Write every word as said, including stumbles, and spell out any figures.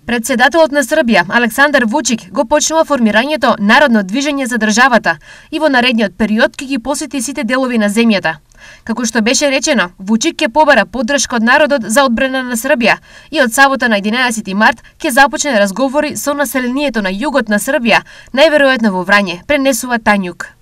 Председателот на Србија, Александар Вучик, го почнува формирањето Народно движење за државата и во наредниот период ќе ги посети сите делови на земјата. Како што беше речено, Вучик ќе побара поддршка од народот за одбрана на Србија и од сабота на единаесети март ќе започне разговори со населението на југот на Србија, најверојатно во Врање, пренесува Тањук.